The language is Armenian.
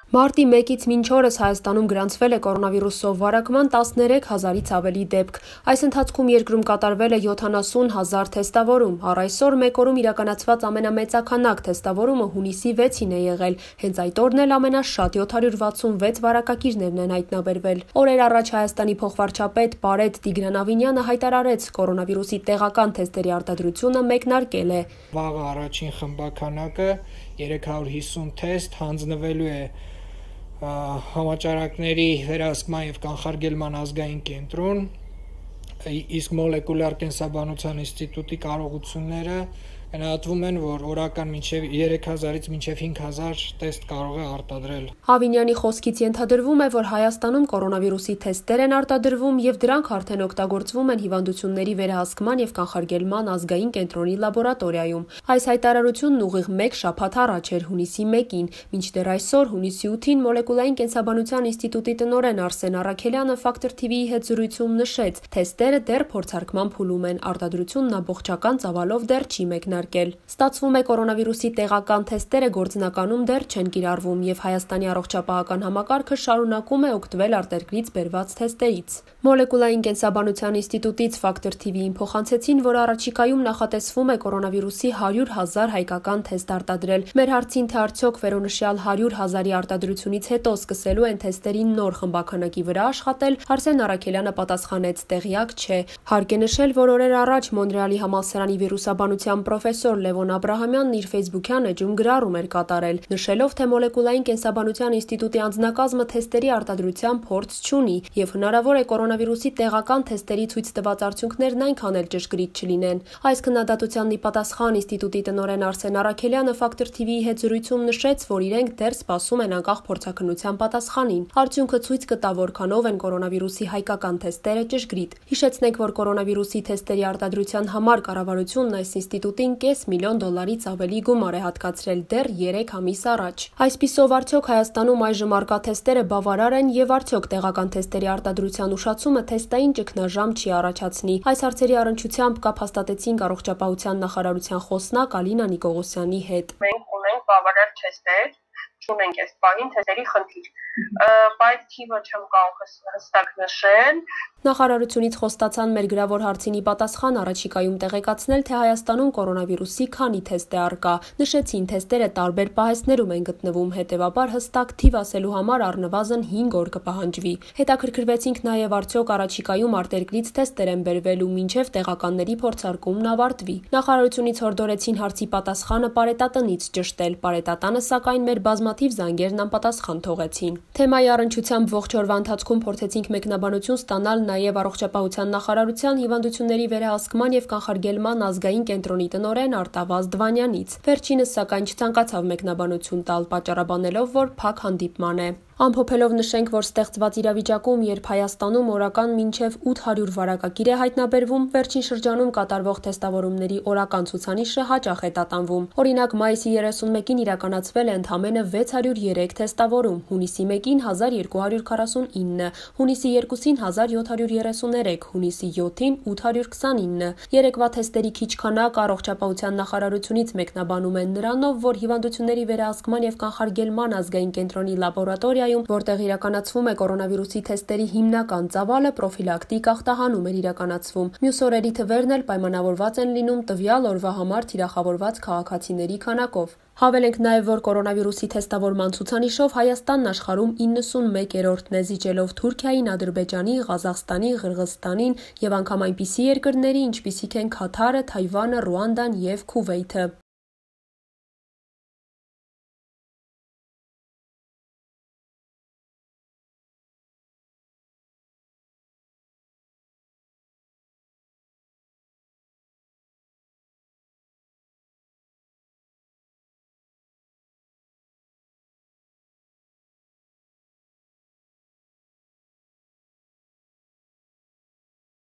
Մարտի 1-ից մինչ օրս Հայաստանում գրանցվել է կորոնավիրուսով վարակման 13,000-ից ավելի դեպք։ Այս ընթացքում երկրում կատարվել է 70,000 թեստավորում։ Առ այսօր մեկ օրում իրականացված ամենամեծաքանակ թեստավորումը հունիսի 6-ին է եղել։ Հենց այդ օրն էլ ամենաշատ 766 վարակագիրներն են հայտնաբերվել։ Օրեր առաջ Հայաստանի փոխվարչապետ Պարետ Տիգրան-Ավինյանը հայտարարեց, կորոնավիրուսի տեղական թեստերի արտադրությունը մեկնարկել է։ Վաղը առաջին խմբականակը 350 թեստ հանձնվելու է համաճարակների վերահսկման և կանխարգելման ազգային կենտրոն, իսկ մոլեկուլյար կենսաբանության ինստիտուտի կարողությունները գնահատվում են, որ օրական 3000-ից մինչև 5000 տեստ կարող է արտադրել։ Ավինյանի խոսքից ենթադրվում է, որ Հայաստանում կորոնավիրուսի թեստեր են արտադրվում և դրանք արդեն օգտագործվում են հիվանդությունների վերահսկման և կանխարգելման ազգային կենտրոնի լաբորատորիայում։ Այս հայտարարությունն ուղիղ մեկ շաբաթ առաջ էր, հունիսի 1-ին, մինչդեռ այսօր, հունիսի 8-ին, մոլեկուլային կենսաբանության ինստիտուտի տնօրեն Արսեն Առաքելյանը Factor TV-ի հետ զրույցում նշեց, թեստերը դեռ փորձարկման փուլում են, արտադրությունն ամբողջական ծավալով դեռ չի մեկնարկել։ Ստացվում է, կորոնավիրուսի տեղական թեստերը գործնականում դեռ չեն կիրառվում և Հայաստանի առողջապահական համակարգը շարունակում է օգտվել արտերկրից բերված թեստերից։ Մոլեկուլային կենսաբանության ինստիտուտից Factor TV-ին փոխանցեցին, որ առաջիկայում նախատեսվում է կորոնավիրուսի 100,000 հայկական թեստ արտադրել։ Մեր հարցին, թե արդյոք վերոնշյալ 100,000-ի արտադրությունից հետո սկսելու են թեստերի նոր խմբականակի վրա աշխատել, Արսեն Առաքելյանը պատասխանեց՝ տեղյակ չէ։ Հարկ է նշել, որ օրեր առաջ Մոնրեալի համալսարանի վիրուսաբանության պրոֆեսոր Լևոն Աբրահամյանն իր ֆեյսբուքյան էջում գրառում էր կատարել, նշելով, թե մոլեկուլային կենսաբանության ինստիտուտի անձնակազմը թեստերի արտադրության փորձ չունի և հնարավոր է կորոնավիրուսի տեղական թեստերի ցույց տված արդյունքներն այնքան էլ ճշգրիտ չլինեն։ Այս քննադատությանն ի պատասխան ինստիտուտի տնօրեն Արսեն Առաքելյանը Factor TV-ի հետ զրույցում նշեց, որ իրենք դեռ սպասում են անկախ փորձաքննության պատասխանին։ Արդյունքը ցույց կտա, որքանով են կորոնավիրուսի հայկական թեստերը ճշգրիտ։ Հիշեցնենք, որ կորոնավիրուսի թեստերի արտադրության համար կառավարությունն այս ինստիտուտին $500,000-ից ավելի գումար է հատկացրել դեռ 3 ամիս առաջ։ Այսպիսով, արդյոք Հայաստանում այժմ առկա թեստերը բավարար են և արդյոք տեղական թեստերի արտադրության ուշացումը թեստային ճգնաժամ չի առաջացնի։ Այս հարցերի առնչությամբ կապ հաստատեցինք առողջապահության նախարարության խոսնակ Ալինա Նիկողոսյանի հետ։ Մենք ունենք բավարար թեստեր, չունենք այս պահին թեստերի խնդիր, բայց թիվը չեմ կարող հստակ նշել։ Նախարարությունից խոստացան մեր գրավոր հարցին ի պատասխան առաջիկայում տեղեկացնել, թե Հայաստանում կորոնավիրուսի քանի թեստ է առկա։ Նշեցին, թեստերը տարբեր պահեստներում են գտնվում, հետևաբար հստակ թիվ ասելու համար առնվազն 5 օր կպահանջվի։ Հետաքրքրվեցինք նաև արդյոք առաջիկայում արտերկրից թեստեր են բերվելու մինչև տեղականների փորձարկումն ավարտվի։ Նախարարությունից հորդորեցին հարցի պատասխանը Պարետատնից ճշտել։ Պարետատանը, սակայն, մեր բազմաթիվ զանգերն անպատասխան թողեցին։ Թեմայի առնչությամբ ողջ օրվա ընթացքում փորձեցինք մեկնաբանություն ստանալ նաև առողջապահության նախարարության հիվանդությունների վերահսկման և կանխարգելման ազգային կենտրոնի տնօրեն Արտավազդ Վանյանից։ Վերջինս, սակայն, չցանկացավ մեկնաբանություն տալ, պատճառաբանելով, որ փակ հանդիպման է։ Ամփոփելով նշենք, որ ստեղծված իրավիճակում, երբ Հայաստանում օրական մինչև 800 վարակագիր է հայտնաբերվում, վերջին շրջանում կատարվող թեստավորումների օրական ցուցանիշը հաճախ է տատանվում։ Օրինակ, մայիսի 31-ին իրականացվել է ընդամենը 603 թեստավորում, հունիսի 1-ին 1249, հունիսի 2-ին 1733, հունիսի 7-ին 829։ Երեկվա թեստերի քիչ քանակը առողջապահության նախարարությունից մեկնաբանում են նրանով, որ հիվանդությունների վերահսկման և կանխարգելման ազգային կենտրոնի լաբորատորիայում, որտեղ իրականացվում է կորոնավիրուսի թեստերի հիմնական ծավալը, պրոֆիլակտիկ ախտահանում էր իրականացվում։ Մյուս օրերի թվերն էլ պայմանավորված են լինում տվյալ օրվա համար թիրախավորված քաղաքացիների քանակով։ Հավելենք նաև, որ կորոնավիրուսի թեստավորման ցուցանիշով Հայաստանն աշխարհում 91-րդն է, զիջելով Թուրքիային, Ադրբեջանի, Ղազախստանի, Ղրղըզստանին և անգամ այնպիսի երկրների, ինչպիսիք են Քաթարը, Թայվանը, Ռուանդան և Քուվեյթը։